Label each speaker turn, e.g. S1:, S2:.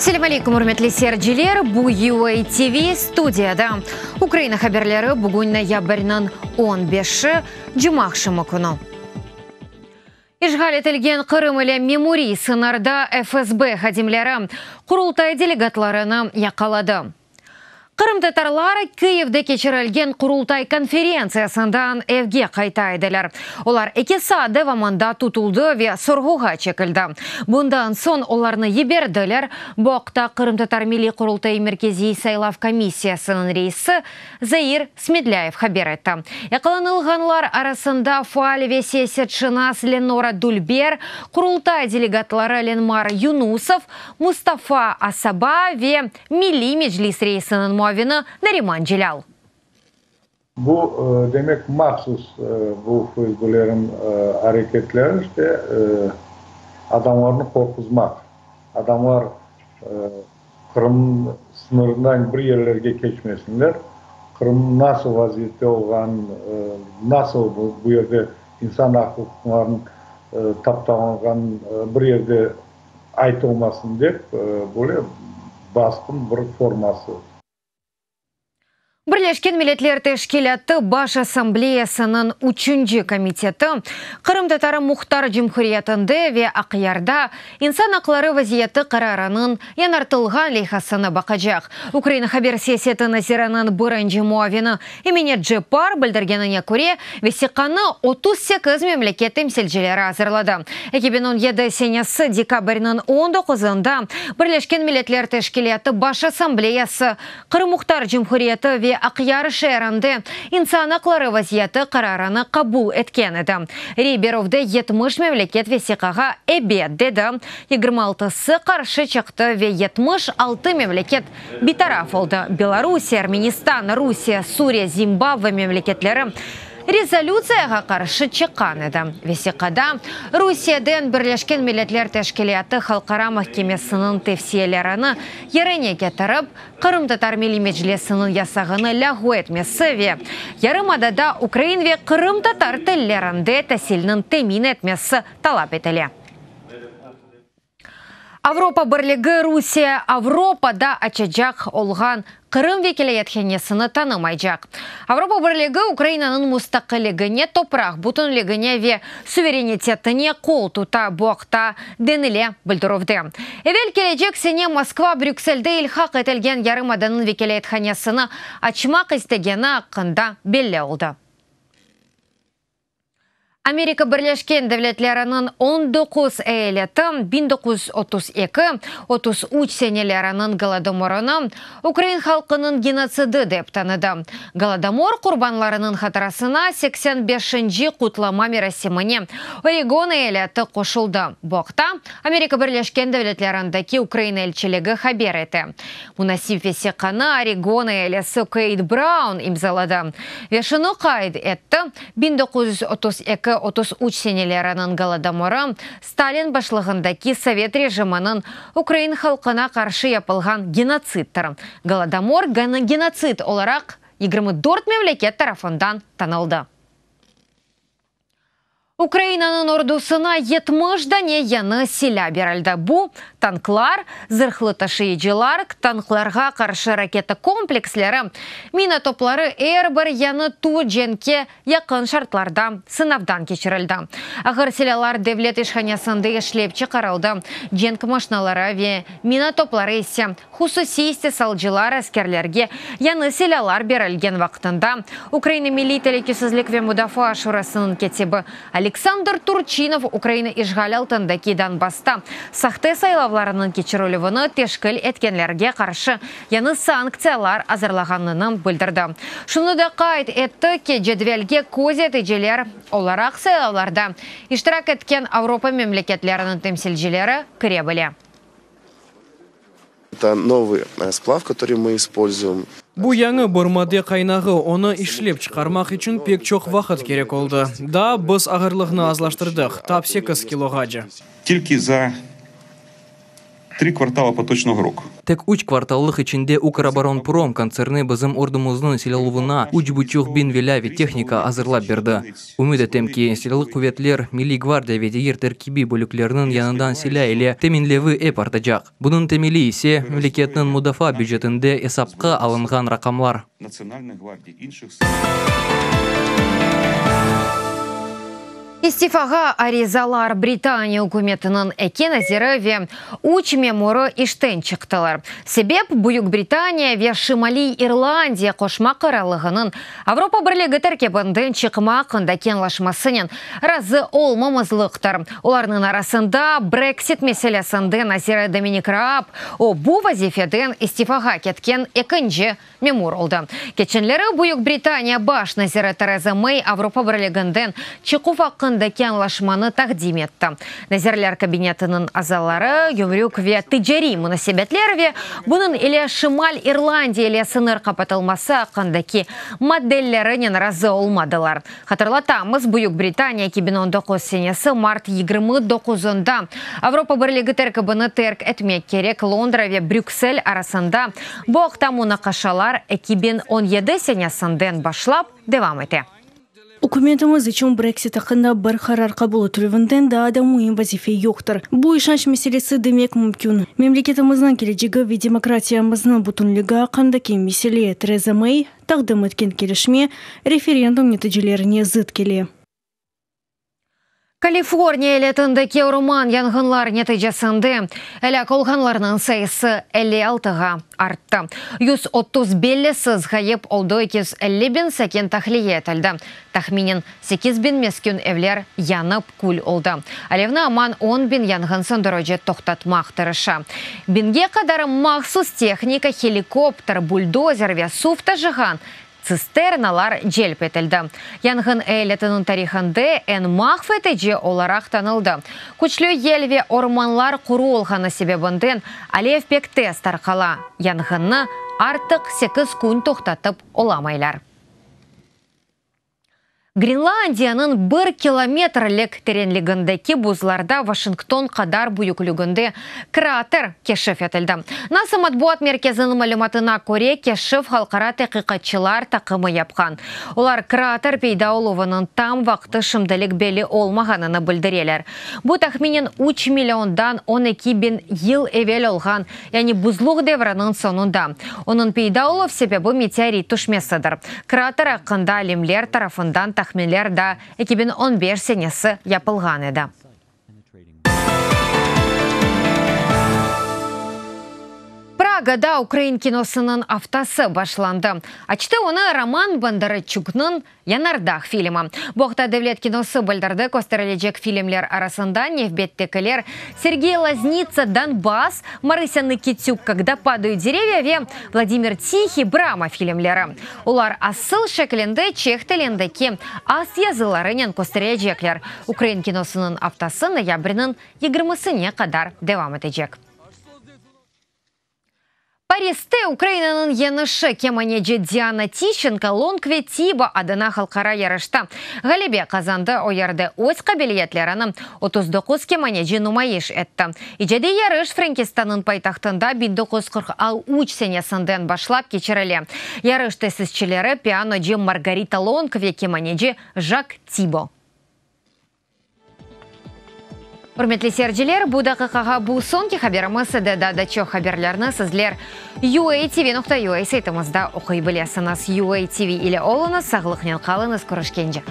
S1: Selâm aleyküm, ürmetli seyirciler! Bu UA TV studiyada Ukraina haberleri bugün noyabrniñ on beşi, cumaaqşamı künü. İşğal etilgen Qırım ile memuriy sıñırda FSB hadimleri Qurultay delegatlarını yaqaladı. Qırımtatarlar Kıyivde keçirilgen Qurultay konferentsiyasından evge qayta ediler. Olar eki saat devamında tutuldı ve sorğuğa çekildi. Bundan soñ olarnı yiberdiler. Bu aqta Qırımtatar Milliy Qurultayı Merkeziy saylav komissiyasınıñ reisi Zair Smedlâyev haber etti. Yaqalanılğanlar arasında faal ve siyasetşınas Lenora Dülber, Qurultay delegatları Lenmar Yunusov, Mustafa Asaba ve Milliy Meclis reisiniñ muavini Nariman Celâl.
S2: Bu, demek, mahsus bu FSBlerniñ areketleri, işte, adamlarnı qorquzmaq. Adamlar Qırım sıñırından bir yerlerge keçmesinler, Qırım nasıl vaziyette olğanın, nasıl bu yerde insan aq-uquqlarınıñ taptalanğanın bir yerde aytılmasın dep, böyle basqın bir forması.
S1: Birleşken Milletler Teşkilâtı Baş Assambleyasınıñ üçünci komiteti Qırımtatar Muhtar Cumhuriyetinde ve Aqyarda insan aqları vaziyeti qararınıñ yañartılğan leyhasını baqacaq. Ukraina haber siyaseti naziriniñ birinci muavini Emine Ceppar bildirgenine köre, vesiqanı 38 memleket temsilcileri azırladı. 2017 senesi dekabrniñ on doquzında Birleşken Milletler Teşkilâtı Baş Assambleyası Qırım Muhtar Cumhuriyeti ve Aqyar şeerinde insan aqları vaziyeti qararını qabul etken edi. Rey berüvde 70 memleket vesiqağa ebet dedi, 26-sı qarşı çıqtı ve 76 memleket bitaraf oldı, Belorusiye, Ermenistan, Rusiye, Suriye, Zimbabve memleketleri rezolütsiyağa qarşı çıqqan edi. Vesiqada Rusiyeden Birleşken Milletler Teşkilâtı Halqara mahkemesiniñ tevsiyelerini yerine ketirip, Qırımtatar Milliy Meclisiniñ yasağını lâğu etmesi ve yarımadada ukrain ve qırımtatar tillerinde tasilniñ temin etmesi talap etile. Avropa Birligi Rusiye Avropada açacaq olğan Qırım vekilâyethanesini tanımaycaq. Avropa Birligi Ukrainanıñ mustaqilligine, topraq bütünligine ve suverenitetine qol tuta, bu aqta denile bildirüvde. Evel kelecek sene Moskva Brükselde ilhaq etilgen yarımadanıñ vekilâyethanesini açmaq istegeni aqqında belli oldı. Amerika Birleşken Devletleriniñ 19 eyaleti 1932, 33 seneleriniñ Golodomorını ukrain halqınıñ genotsidi dep tanıdı. Golodomor qurbanlarınıñ hatırasına 85-nci qutlama merasimine Oregon eyaleti qoşuldı. Bu aqta Amerika Birleşken Devletlerindeki Ukraina elçiligi haber ete. Munasip vesiqanı Oregon eyalesi Keyt Braun imzaladı ve şunı qayd etti, 1932, 33 seneleriniñ Golodomorı, Stalin başlığındaki sovet rejiminiñ ukrain halqına qarşı yapılğan genotsidtir. Golodomor genotsid olaraq 24 memleket tarafından tanıldı. Ukrainanıñ ordusına 70 dane yañı silâ berildi. Bu, tanklar, zırhlı taşıyıcılar, tanklarğa qarşı raketa kompleksleri, mina topları er bir yañı tür cenkke yaqın şartlarda sınavdan keçirildi. Ağır silâlar devlet işhanesinde işlep çıqarıldı, cenk maşinaları ve mina topları ise Hususiy istisalcılar askerlerge yañı silâlar berilgen vaqtında Ukraina Milliy telükesizlik ve mudafaa şurasınıñ kâtibi Oleksandr Turçinov Ukraina işğal altındaki Donbassta sahte saylavlarınıñ keçirilüvini teşkil etkenlerge qarşı yañı sanktsiyalar azırlağanını bildirdi. Şunı da qayd etti ki, cedvelge köz eticiler olaraq saylavlarda iştirak etken Avropa memleketleriniñ temsilcileri kire bile.
S3: Это новый сплав, который мы используем.
S4: Bu yañı bir madde qaynağı, onı işlep çıqarmaq içün pek çoq vaqıt kerek oldı. Daa biz ağırlığını azlaştırdıq, tap sekiz kiloğace.
S5: Tilki za. Tri kvartala potoçnogo roku.
S4: Tek üç kvartallıq içinde Ukroboronprom kontserni bizim ordumıznıñ silâluvına üç buçuq biñ velâ ve tehnika azırlap berdi. Ümüt etem ki, Silâlı quvetler, Milliy gvardiya ve diger terkibiy bölüklerniñ yañıdan silâ ile teminlevi ep artacaq. Bunıñ temeli ise, memleketniñ mudafaa bücetinde esapqa alınğan raqamlar.
S1: İstifağa arizalar Britaniya ükümetiniñ eki naziri ve üç memurı işten çıqtılar. Sebep, Büyük Britaniya ve Şimaliy İrlandiya Qoşma Qırallığınıñ Avropa Birligi terkibinden çıqma aqqındaki añlaşmasınen razı olmamızlıqtır. Olarnıñ arasında Brexit meselesinde naziri Dominik Raab, o, bu vazifeden istifağa ketken ekinci memur oldı. Keçenleri Büyük Britaniya baş naziri Tereza Mey Avropa Birliginden çıquv aqqındaki añlaşmanı taqdim etti. Nazirler Kabinetiniñ azaları gümrük ve ticariy munasebetler ve bunıñ ile Şimal İrlandiya ile sıñır qapatılması aqqındaki maddelerinen razı olmadılar. Hatırlatamız, Büyük Britaniya 2019 senesi mart 29-ında Avropa Birligi terkibini terk etmek kerek, Londra ve Brüksel arasında bu aqta munaqaşalar 2017 senesinden başlap devam ete.
S6: Ükümetimiz içün Brexit aqqında bir qarar qabul etilüvinden daa da müim vazife yoqtır. Bu işanç meselesi demek mümkün. Memleketimizniñ kelecegi ve demokratiyamıznıñ bütünligi aqqındaki mesele, Tereza Mey taqdim etken kelişme referendum neticelerine zıt kele.
S1: Kaliforniya eyaletindeki orman yanğınlar neticesinde elâk olğanlarnıñ sayısı 56-ğa arttı. 130 bellisiz ğayıp oldı, 250 biñ sakin tahliye etildi. Tahminen 8 biñ meskün evler yanıp kül oldı. Alevni aman 10 biñ yanğın söndürici toqtatmaq tırışa. Biñge qadar mahsus tehnika, helikopter, buldozer ve suv taşığan tsisternalar celp etildi. Yanğın eyaletiniñ tarihında eñ mahv etici olaraq tanıldı. Küçlü yel ve ormanlar quru olğanı sebebinden alev pek tez tarqala. Yanğınnı artıq sekiz kün toqtatıp olamaylar. Grenlandiyanıñ bir kilometrlik terenligindeki buzlarda Vaşington qadar büyükliginde krater keşif etildi. NASA matbuat merkeziniñ malümatına köre, keşif halqara teqiqatçılar taqımı yapqan. Olar krater peyda oluvınıñ tam vaqtı şimdilik belli olmağanını bildireler. Bu tahminen üç milliondan 12 biñ yıl evel olğan, yani buzluq devriniñ soñunda. Onıñ peyda oluv sebebi meteorit tüşmesidir. Krater aqqında alimler tarafından tahminler daa 2015 senesi yapılğan edi. Pragada ukrain kinosınıñ aftası başlandı. Açtı onı Roman Bondarçuknıñ Yanardağ filmi. Bu aqta Devlet kinosı bildirdi. Kösterilecek filmler arasında nevbettekiler, Sergey Loznitsa Donbass, Marısâ Nıkitük Kogda padayut derevya ve Vladimir Tihiy Brama filmleri. Olar asıl şeklinde çeh tilindeki ast yazılarınen kösterilecekler. Ukrain kinosınıñ aftası noyabrniñ yigirmisine qadar devam etecek. Pariste Ukrainanıñ yeñişi, kemaneci Diana Tişçenko Long ve Tibo adına halqara yarışta ğalebe qazandı, o yerde öz qabiliyetlerini 39 kemaneci numayış etti. İcadiy yarış Frenkistannıñ paytahtında 1943 senesinden başlap keçirile. Yarış tesisçileri, pianocı Margarita Long ve kemaneci Jak Tibo. Ürmetli seyirciler, bu daqiqağa bu soñki haberimiz edi. Daa da çoq haberlerni sizler UATV.UA saytımızda oquy bilesiñiz. UATV ile oluñız, sağlıqnen qalıñız, körüşkence.